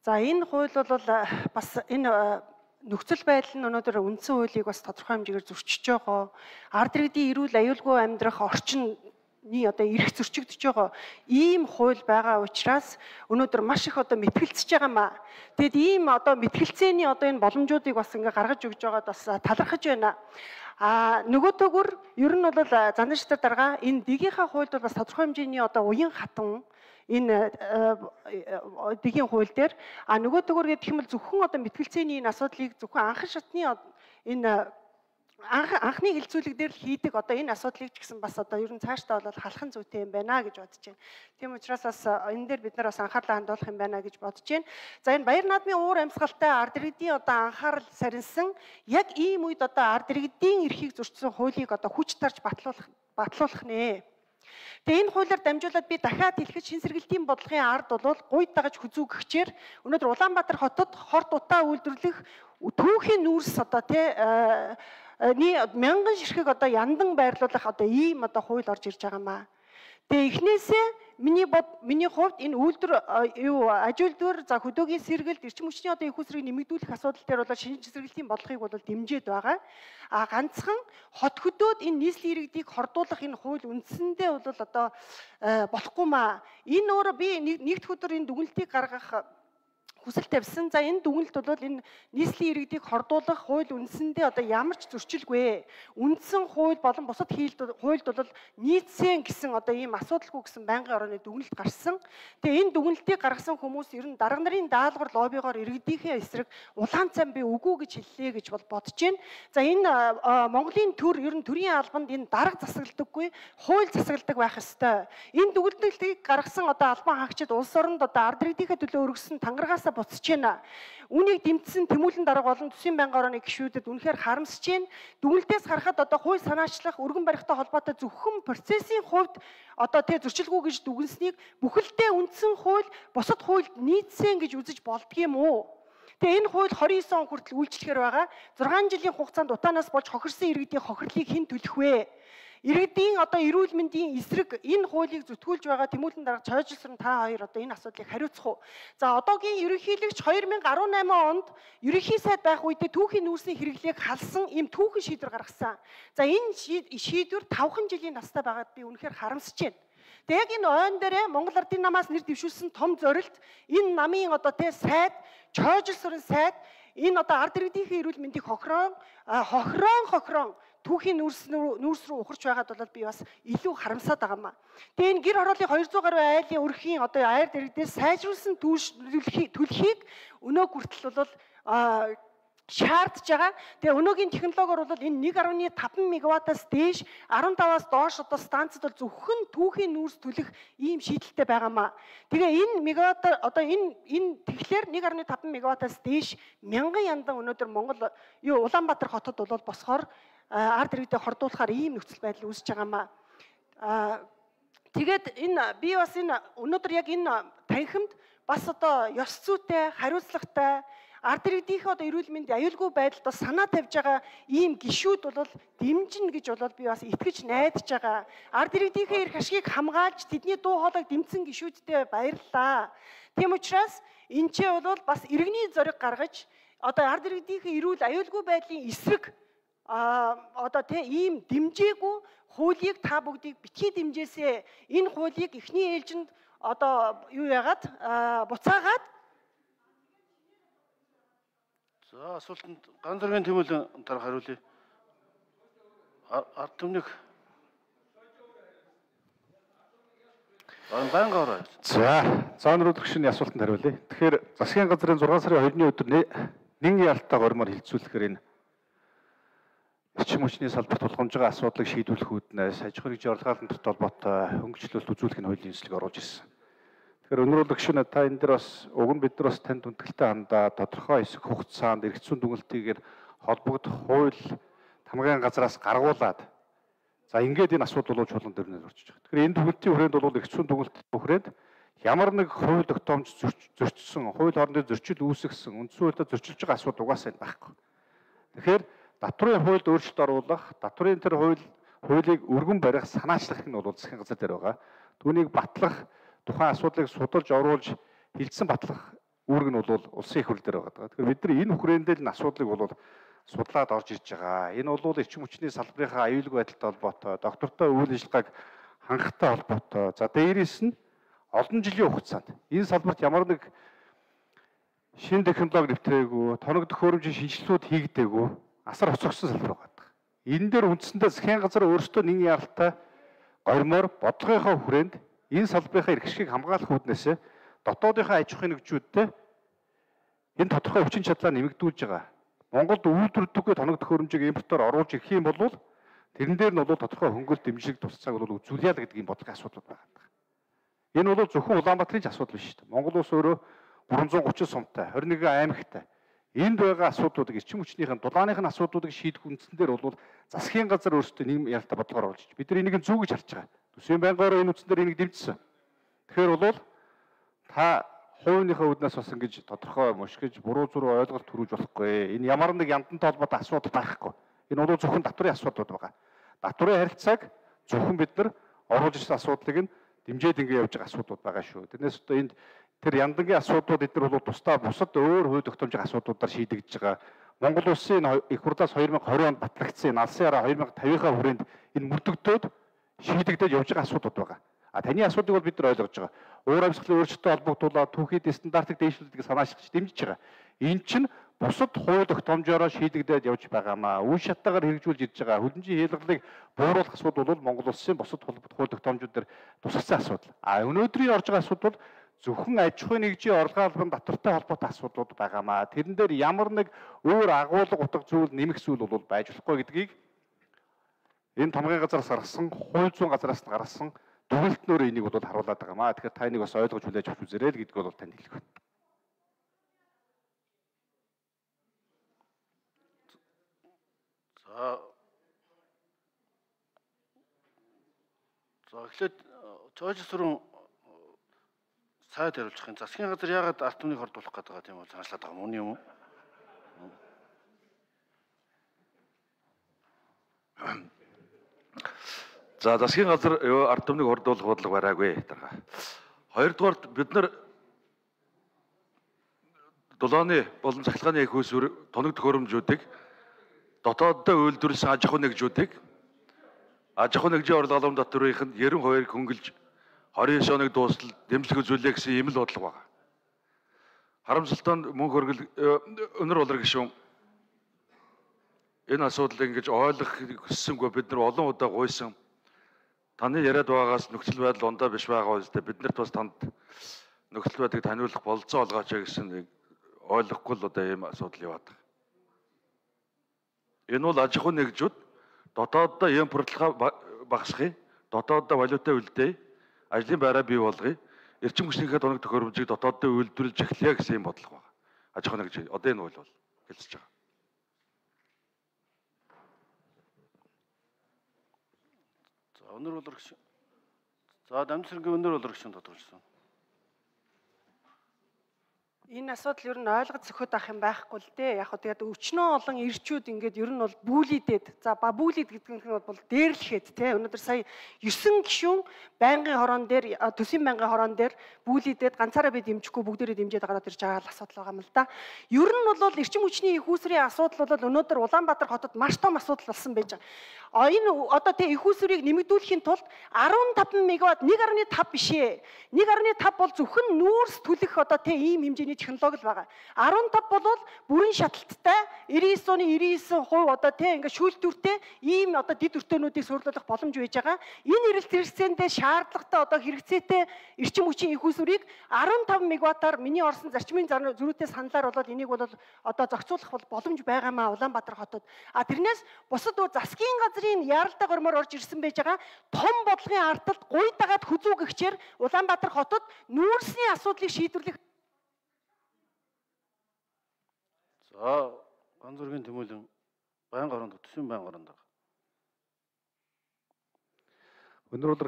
За энэ хууль бол бас энэ нөхцөл байдал нь өнөөдөр үндсэн хуулийг бас тодорхой хэмжээгээр зөрчиж байгаа. Ард иргэдийн эрүүл аюулгүй амьдрах орчны одоо эрх зөрчигдөж байгаа ийм хууль байгаа учраас өнөөдөр маш их одоо мэтгэлцэж байгаа маа. Тэгэд ийм одоо мэтгэлцээний одоо энэ боломжуудыг бас ингээ гаргаж өгж байгаад бас талархаж байна. Нөгөөдөөгөр ер нь бол занданчдаар дарга энэ дээгийнхаа хуульд бол бас тодорхой хэмжээний одоо уян хатан энэ дэгийн хууль дээр нөгөөдөөгөр гэх юм бол зөвхөн одоо мэтгэлцээний энэ асуудлыг зөвхөн анхан шатны энэ анхны хилцүүлэг дээр л хийдэг одоо энэ асуудлыг ч гэсэн бас одоо ер нь цаашдаа бол халахын зүйтэй юм байна гэж бодож байна. Тийм учраас бас энэ дээр бид нар бас анхаарлаа хандуулах юм байна гэж бодож байна. За энэ баяр наадмын уур амьсгалтай ард иргэдийн одоо анхаарал сарнсан яг ийм үед одоо ард иргэдийн эрхийг зөрчсөн хуулийг одоо хүч тарж батлуулах нэ. Тэгээ энэ хуулиар дамжуулаад би дахиад хэлэхэд шин сэргэлтийн бодлогын ард бол гуйд дагаж хүзүүгчээр өнөөдөр Улаанбаатар хотод хорт утаа үйлдвэрлэх түүхийн нүүрс одоо мянган ширхэг одоо яндан байрлуулах одоо ийм одоо хууль орж ирж байгаа маа. Тэгээ эхнээсээ миний хувьд энэ үйлдвэр аж үйлдвэр за хөдөөгийн сэргэлт эрчим хүчний одоо их усрыг нэмэгдүүлэх асуудал дээр бол шинж сэргэлтийн бодлогыг бол дэмжиж байгаа. Ганцхан хот хөдөөд энэ нийслэлийн иргэдийг хордуулах энэ хууль үндсэндээ бол одоо болохгүй маа. Энэ өөрөө би нэгд өдөр энэ дүгнэлтийг гаргах хүсэл тавьсан. За энэ дүгнэлт бол энэ нийслэлийн иргэдийг хордуулах хууль үндсэндээ одоо ямар ч зөрчилгүй. Үндсэн хууль болон бусад хуульд бол нийцсэн гэсэн одоо ийм асуудалгүй гэсэн байнгын орооны дүгнэлт гарсан. Тэгээ энэ дүгнэлтийг гаргасан хүмүүс ер нь дарга нарын даалгавар лоббигоор иргэдийнхээ эсрэг улаан цам би үгүй гэж хэллээ гэж бодож байна. За энэ Монголын төр ер нь төрийн албанд энэ дарга засагддаггүй, хууль засагладаг байх ёстой. Энэ дүгнэлтийг гаргасан одоо албан хаагчид улс оронд одоо ард иргэдийнхээ төлөө өргөсөн тангарагаас буцаж байна. Үүнийг дэмжсэн тэмүүлэн дарга болон төсвийн байнгын орооны гишүүдэд үнэхээр харамсаж байна. Дүгнэлтээс харахад одоо хууль санаачлах өргөн барихтай холбоотой зөвхөн процессын хувьд одоо зөрчилгүй гэж дүгнсэнийг бүхэлдээ үндсэн хууль бусад хуульд нийцсэн гэж үзэж болдгийм үү? Тэгээ энэ хууль 29 он хүртэл үйлчлэхээр байгаа. 6 жилийн хугацаанд утаанаас болж хохирсон иргэдийн хохирлыг хэн төлөх вэ? Иргэдийн одоо эрүүл мэндийн эсрэг энэ хуулийг зүтгүүлж байгаа тэмүүлэн дарга чойжилсан та хоёр одоо энэ асуудлыг хариуцах уу? За одоогийн ерөнхийлөгч 2018 онд ерөнхий сайд байх үедээ түүхийн нүүрсийн хэрэглээг халсан ийм түүхэн шийдвэр гаргасан. За энэ шийдвэр 5 жилийн настай байгаад би үнэхээр харамсаж байна. Тэгээ яг энэ ойн дээрээ Монгол Ардын намаас нэр дэвшүүлсэн том зорилт энэ намын одоо сайд чойжилсан сайд энэ одоо ард иргэдийнхээ эрүүл мэндийг хохирон түүхийн нүүрс рүү ухарч байгаад бол би бас илүү харамсаад байгаа маа. Тэгээ энэ гэр хорооллын 200 гаруй айлын өрхийн одоо ард иргэдээс сайжруулсан төлхийг өнөө хүртэл бол шаардж байгаа. Тэгээ өнөөгийн технологиор бол энэ 1.5 мегаваттаас дээш 15-аас доош одоо станцад бол зөвхөн түүхийн нүүрс төлөх ийм шийдэлтэй байгаа маа. Тэгээ энэ мегаватт одоо энэ тэгэхээр 1.5 мегаваттаас дээш мянган яндан өнөөдөр Монгол Улаанбаатар хотод бол босхоор ард иргэдэд хордуулахаар ийм нөхцөл байдал үүсэж байгаа маа. Тэгээд би бас энэ өнөөдөр яг энэ танхимд бас одоо ёс зүйтэй, хариуцлагатай ард иргэдийнхээ одоо эрүүл мэндийн аюулгүй байдалд бас санаа тавьж байгаа ийм гишүүд бол дэмжинэ гэж би бас итгэж найдаж байгаа. Ард иргэдийнхээ эрх ашгийг хамгаалж тэдний дуу хоолойг дэмжсэн гишүүдтэй баярлалаа. Тийм учраас энэ ч бол бас иргэний зориг гаргаж одоо ард иргэдийнхээ эрүүл аюулгүй байдлын эсрэг одоо ийм дэмжээгүй хуулийг та бүгдийг битгий дэмжээсэй. Энэ хуулийг эхний ээлжинд одоо юу яагаад буцаагаад за асуултанд ганц зэргийн тэмүүлэн дарга хариулъя. Ард түмнийг банга ороо. За өнөөдөр гүшний асуултанд хариулъя. Тэгэхээр засгийн газрын 6 сарын 2-ны өдөр нэгэн ялтаа гормоор хилцүүлэхээр энэ эрчим хүчний салбарт тулгамж байгаа асуудлыг шийдвэрлэх үүднээс аж ахуйн орлогын холбоотой хөнгөлөлт үзүүлэх нь хуулийн нийслэг оруулж ирсэн. Тэгэхээр өнөөдөр гүшүүн та энэ дээр бас уг нь бид нар бас танд хүндэтгэлтэй хандаа тодорхой хэсэг хугацаанд эргэцүүн дүгнэлтийгээр холбогдох хууль тамгын газраас гаргуулад за ингээд энэ асуудал болж чулуун дээр нэр орчиж байгаа. Тэгэхээр энэ дүгнэлтийн хүрээнд бол эргэцүүн дүгнэлт хүрээнд ямар нэг хууль тогтоомж зөрчсөн, хууль хоорондын зөрчил үүсгэсэн, үндсэн хуульд зөрчилж байгаа асуудал угаасаа байхгүй. Тэгэхээр татврын хуульд өөрчлөлт оруулах, татврын тэр хуулийг өргөн барих, санаачлах нь бол засгийн газар дээр байгаа. Түүнийг батлах, тухайн асуудлыг судалж оруулж хилцэн батлах үүрэг нь бол улсын их хурл дээр байгаа. Тэгэхээр бид нар энэ хүрээндээ энэ асуудлыг бол судлаад орж ирж байгаа. Энэ бол эрчим хүчний салбарынхаа аюулгүй байдалтай холбоотой, доктортой үйл ажиллагааг хангахтай холбоотой. За дээрээс нь олон жилийн хугацаанд энэ салбарт ямар нэг шинэ технологи нэвтрээгүй, тоног төхөөрөмжийн шинжилгүүд хийгдээгүй, асар хоцрогдсон салбар байгаа. Энэ дээр үндсэндээ засгийн газар өөрсдөө нэгэн яралтай гормоор бодлогынхаа хүрээнд энэ салбарынхаа эрх ашигыг хамгаалах үүднээс дотоодынхаа аж ахуйн нэгжүүдтэй энэ тодорхой хүчин чадлаа нэмэгдүүлж байгаа. Монголд үйлдвэрлэдэггүй тоног төхөөрөмжийг импортоор оруулж ирэх юм бол тэрэн дээр нь бол тодорхой хөнгөлөлт дэмжлэг тусцааг бол үзүүлъя л гэдэг ийм бодлогын асуудал байгаа. Энэ бол зөвхөн Улаанбаатарын ч асуудал биш шүү дээ. Монгол улс өөрөө 330 сумтай, 21 аймагтай. Энд байгаа асуудлуудыг эрчим хүчнийхэн дулааныхын асуудлуудыг шийдэх үндсэн дээр бол засгийн газар өөрсдөө нийгэм яралтай бодлогоор оруулж байна. Бид нар энийг зүүгэж харж байгаа. Төсвийн байнгаараа энэ үндсэн дээр энийг дэмжсэн. Тэгэхээр бол та хувийнхаа үднээс бас ингэж тодорхой мушгиж буруу зүрх ойлголт төрүүлж болохгүй. Энэ ямар нэг яндантай холбоотой асуудал байхгүй. Энэ бол зөвхөн татврын асуудлууд байгаа. Татврын харилцааг зөвхөн бид нар оруулж ирсэн асуудлыг нь дэмжээд ингэ явж байгаа асуудлууд байгаа шүү. Тэрнээс одоо энд тэр яндангийн асуудлууд эдгээр бол тусдаа бусад өөр хувь тогтоомжийн асуудлуудаар шийдэгдэж байгаа. Монгол улсын их хурлаас 2020 онд батлагдсан алсын хараа 2050-ийнхаа хүрээнд энэ мөрдөгдөөд шийдэгдэж явж байгаа асуудлууд байгаа. А таны асуудлыг бол бид нар ойлгож байгаа. Уур амьсгалын өөрчлөлтөд холбогдуулаад түүхийд стандартыг дээшлүүлдэг санаачилж дэмжиж байгаа. Энэ чинь бусад хууль тогтоомжоор шийдэгдээд явж байгаамаа. Үн шатаагаар хэрэгжүүлж ирж байгаа. Хөлбөмбөгийн хялгалыг бууруулах асуудал бол Монгол улсын бусад хууль тогтоомжууд дээр тусгасан асуудал. А өнөөдрийн орж байгаа асуудал бол зөвхөн аж ахуйн нэгжийн орлогын албан татвартай холбоотой асуудлууд байгаамаа. Тэрэн дээр ямар нэг өөр агуулга утга зүйл нэмэх зүйл бол байж болохгүй гэдгийг энэ томгийн газараас гаргасан, хууль зүйн газараас нь гаргасан дүгнэлтнөр энийг бол харуулдаг байгаамаа. Тэгэхээр та энийг бас ойлгож хүлээж авч үзээрэй л гэдгийг бол танд хэлэх байна. За эхлээд цоожсрын сайд хариулчих юм. Засгийн газар яагаад ард түмнийг хордуулах гэдэг байгаа тийм бол санаачлаад байгаа юм уу? Юм уу? За засгийн газар ард түмнийг хордуулах бодлого бараагүй дарга. Хоёрдугаарт бид нар дулааны болон цахилгааны их усүр тоног төхөөрөмжүүдийг дотооддоо үйлдвэрлэсэн аж ахуйн нэгжүүдийг аж ахуйн нэгжийн орлогын албан татврын 92-ыг хөнгөлж 29 оног дуустал дэмжлэг үзүүлээ гэсэн ийм л бодлого байна. Харамсалтай нь мөнх хөргөл өнөр болор гишүүн энэ асуудлыг ингэж ойлгох хүссэнгүй бид нар олон удаа гуйсан. Таны яриад байгаагаас нөхцөл байдал ундаа биш байгаа үстэй бид нарт бас танд нөхцөл байдлыг таниулах бололцоо олгооч гэсэн ойлгохгүй л одоо ийм асуудал яваад байна. Энэ бол аж ахуйн нэгжүүд дотооддоо импортлогоо багасгахыг, дотооддоо валюта үлдээе, ажлын байраа бий болгоё, эрчим хүчнийхээ тоног төхөөрөмжийг дотооддоо үйлдвэрлэж эхлэе гэсэн юм бодлого байна. Аж ахуйн нэгж одоо энэ бол хэлцэж байгаа. За өнөр болор гişүн. За дамжин сэргийн өнөр болор гişүн тодорхойлсон. Энэ асуудал ер нь ойлгож зөвхөд авах юм байхгүй л дээ. Яг хөө тэгээд өчнөө олон ирчүүд ингээд ер нь бол бүүлийдэд. За бүүлийд гэдэг нь бол дээрлэхэд тий. Өнөөдөр сая 9 гишүүн байнгын хорон дээр төсвийн байнгын хорон дээр бүүлийдэд ганцаараа би дэмжихгүй бүгдээрээ дэмжиж гараад ирж байгаа асуудал байгаа юм л да. Ер нь бол эрчим хүчний их усрын асуудал бол өнөөдөр Улаанбаатар хотод маш том асуудал болсон байж байгаа. Энэ одоо тий их усрыг нэмэгдүүлэхийн тулд 15 мегаватт 1.5 биш ээ. 1.5 бол зөвхөн нүүрс түлэх одоо тий ийм хэмжээний технологи л байгаа. 15 бол бүрэн шаталттай 99.99% одоо тийм ингээд шүүлтүүртэй ийм одоо дид өртөөнүүдийг сурлуулах боломж байж байгаа. Энэ эрэлт хэрэгцээндээ шаардлагатай одоо хэрэгцээтэй эрчим хүчийн их усрыг 15 мегаваттаар миний орсон зарчмын зөрүүтэй саналаар бол энийг бол одоо зохицуулах боломж байгаамаа Улаанбаатар хотод. А тэрнээс бусад засгийн газрын яралтай гормоор орж ирсэн байж байгаа том бодлогын ардталд гуйдагаад хүзүүгэгчээр Улаанбаатар хотод нүүрсний асуудлыг шийдвэрлэх. За ганц зургийн тэмүүлэн байнга оронд төсвийн байнга оронд. Өнөр болор